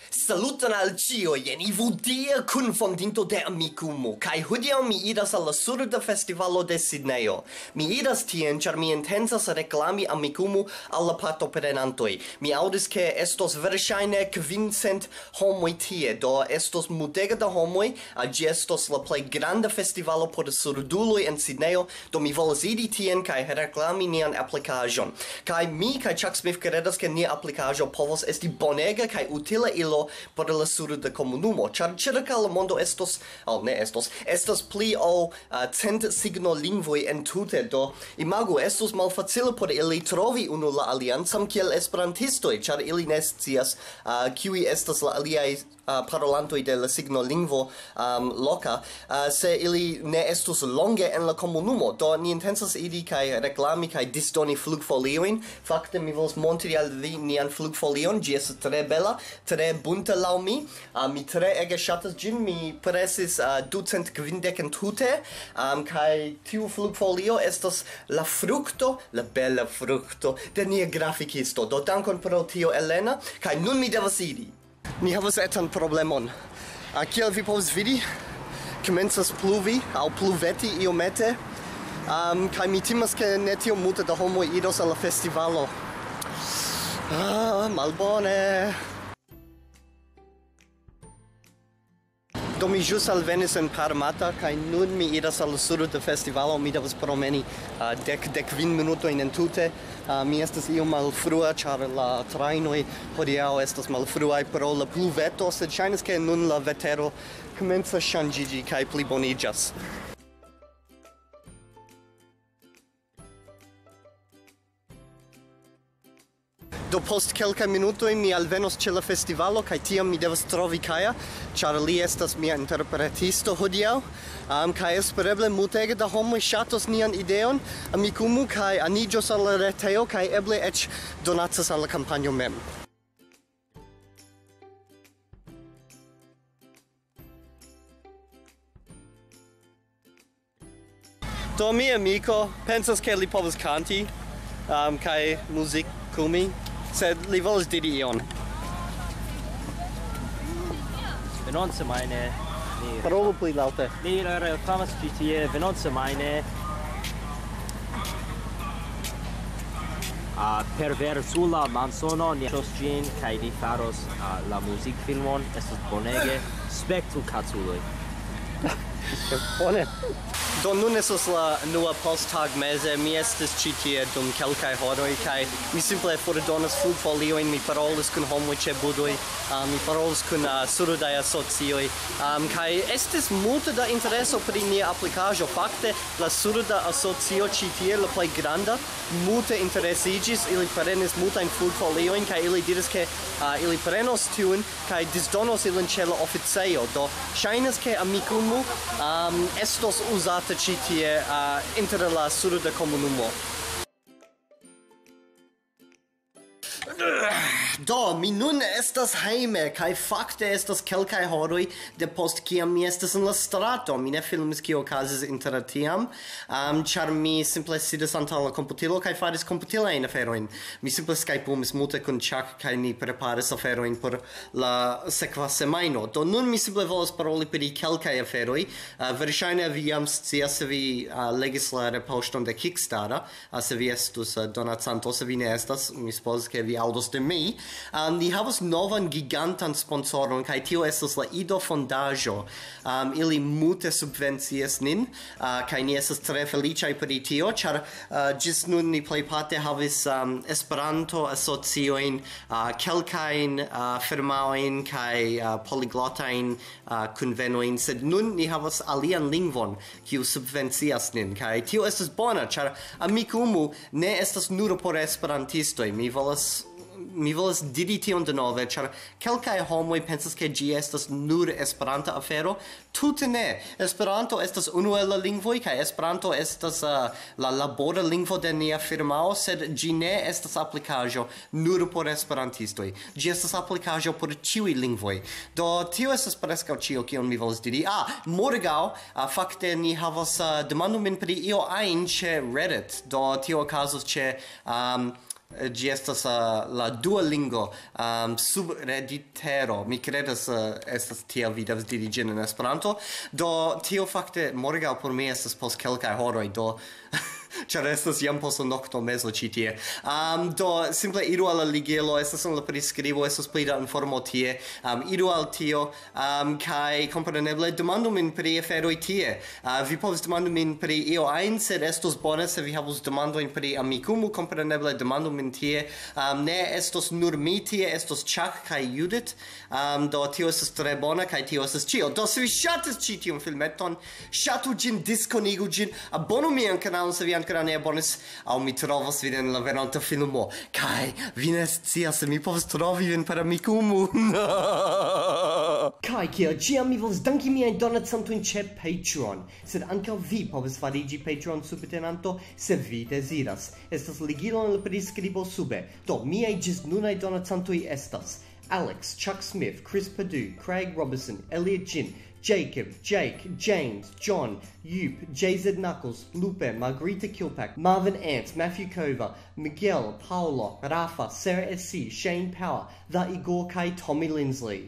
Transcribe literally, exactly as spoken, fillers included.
Saluton al ciui, jen Ivo Dia, kunfondinto de Amikumu, kaj hodiaŭ mi iras al la surda festivalo de Sidnejo. Mi iras tien, ĉar mi intencas reklami Amikumu al la partoprenantoj. Mi aŭdis, ke estos verŝajne kvincent homoj tie, do estos multege da homoj, a, ĝi estos la plej granda festivalo por surduloj en Sidnejo, do mi volas iri tien kaj reklami nian aplikaĵon. Kaj mi kaj Chuck Smith kredas, ke nia aplikaĵo povos esti bonega kaj utila ilo por la surda komunumo, ĉar ĉirkaŭ la mondo estos, oh, ne estos, estas pli ol, a, cent signolingvoj entute, do imagu, estos malfacile por ili trovi unu la alian, samkiel esperantistoj, ĉar ili ne scias, a, kiuj estas la aliaj, a, parolantoj de la signolingvo, am, loka, a, se ili ne estus longe en la komunumo. Do ni intencas iri kaj reklami kaj disdoni flugfoliojn. Fakte mi volas montri al vi nian flugfolion, ĝi estas tre bela, tre bunta laŭ mi. A, mi tre ege ŝatas ĝin, mi presis, a, ducent kvindek entute, am, kaj tiu flugfolio estas la frukto, la bela frukto de nia grafikisto. Do dankon pro tio, Elena, kaj nun mi devas iri. Ni havas etan problemon. A, kiel vi povas vidi, komencas pluvi aŭ pluveti iomete, am, kaj mi timas, ke ne tiom multe da homoj iros al la festivalo. Ah, malbone. Do mi ĵus alvenis en Parramatta, kaj nun mi iras al la sudo de festivalo. Mi devas promeni, a, dek, dek kvin minutojn entute. A, mi estas iom malfrua, ĉar la trajnoj hodiaŭ estas malfruaj pro la pluveto, sed ŝajnas, ke nun la vetero komencas ŝanĝiĝi kaj pliboniĝas. Do post kelkaj minutoj mi alvenos ĉe la festivalo, kaj tiam mi devas trovi Kaja, ĉar li estas mia interpretisto hodiaŭ. Am, kaj espereble multege da homoj ŝatos nian ideon, Amikumu, kaj aniĝos al la retejo, kaj eble eĉ donacas al la kampanjo mem. Do mia amiko pensas, ke li povas kanti, um, kaj muzikumi, sed li volas diri ion. Venontsemajne ni... Parolu pli laŭte. Ni reklamas ĉi tie venontsemajne. A, perversula mansono, ni ŝos ĝin, kaj ni faros, a, la muzikfilmon. Estas bonege. Spektu, kaculoj. Bone. Do nun estas la unua posttagmeze, mi estis ĉi tie dum kelkaj horoj, kaj mi simple fordonas flugfoliojn, mi parolis kun homoj ĉe budoj, a, mi parolis kun, a, surdaj asocioj, am, kaj estis multe da intereso pri nia aplikaĵo. Fakte, la surda asocio ĉi tie, la plej granda, multe interesiĝis, ili prenis multajn flugfoliojn, kaj ili diris, ke, a, ili prenos tiun, kaj disdonos ilin ĉe la oficejo. Do ŝajnas, ke Amikumu, am, estos uzata ĉi tie, a, inter la surda komunumo. Do, mi nun estas hejme, kaj fakte estas kelkaj horoj depost kiam mi estas en la strato. Mi ne filmis, kio okazis inter tiam, am, ĉar mi simple sidis antaŭ la komputilo kaj faris komputilajn aferojn. Mi simple skajpumis multe kun Chuck, kaj ni preparis aferojn por la sekva semajno. Do nun mi simple volas paroli pri kelkaj aferoj. A, verŝajne vi jam scias, se vi, a, legis la retpoŝton de Kickstarter, a, se vi estus, a, donacanto, se vi ne estas, mi supozas, ke vi aŭdos de mi. A, ni havas novan gigantan sponsoron, kaj tio estas la Ido Fondaĵo. Am, ili multe subvencias nin, a, kaj ni estas tre feliĉaj pri tio, ĉar, a, ĝis nun ni plejparte havis, am, Esperanto-asociojn, a, kelkajn, a, firmaojn kaj, a, poliglotajn, a, kunvenojn, sed nun ni havas alian lingvon, kiu subvencias nin, kaj tio estas bona, ĉar Amikumu ne estas nur por esperantistoj. Mi volas, mi volas diri tion denove, ĉar kelkaj homoj pensas, ke ĝi estas nur Esperanta afero. Tute ne. Esperanto estas unu el la lingvoj, kaj Esperanto estas, a, la labora lingvo de nia firmao, sed ĝi ne estas aplikaĵo nur por esperantistoj. Ĝi estas aplikaĵo por ĉiuj lingvoj. Do, tio estas preskaŭ ĉio, kion mi volas diri. Ah, morgaŭ, a, fakte ni havas, a, demandu min pri io ajn ĉe Reddit. Do, tio okazos ĉe, am, Eh, ĝi estas, eh, la Duolingo, ehm, subreditero. Mi kredas, eh, estas tiel vi devas diri ĝin en Esperanto. Do tio fakte morgaŭ por mi estas post kelkaj horoj, do ĉar estas jam post nokto mezo ĉi tie. Ehm, do simple iru al la ligilo, estas en la priskribo, estas pli da informo tie. Ehm, iru al tio, ehm, kaj kompreneble demandu min pri aferoj tie. Ah, vi povas demandi min pri io ajn, sed estos bone se vi havus demandojn pri Amikumu, kompreneble demandu min tie. Ehm, ne estos nur mi tie, estos Chuck kaj Judith. Ehm, do tio estas tre bona, kaj tio estas ĉio. Do se vi ŝatas ĉi tiun filmeton, ŝatu ĝin, diskonigu ĝin, abonu mian kanalon se vi ankoraŭ ne abonis, aŭ mi trovos vin en la venonta filmo. Kaj vi ne scias se mi povas trovi vin per Amikumu. Kaj kiel ĉiam mi volas danki miajn donacantojn ĉe Patreon, sed ankaŭ vi povas fariĝi Patreon subtenanto se vi deziras. Estas ligilo en la priskribo sube. Do miaj ĝis nunaj donacantoj estas Alex, Chuck Smith, Chris Perdue, Craig Robertson, Elliot Jin, Jacob, Jake, James, John, Yoop, J Z Knuckles, Lupe, Margarita Kilpack, Marvin Ant, Matthew Cover, Miguel, Paolo, Rafa, Sarah S C, Shane Power, The Igor Kai, Tommy Lindsley.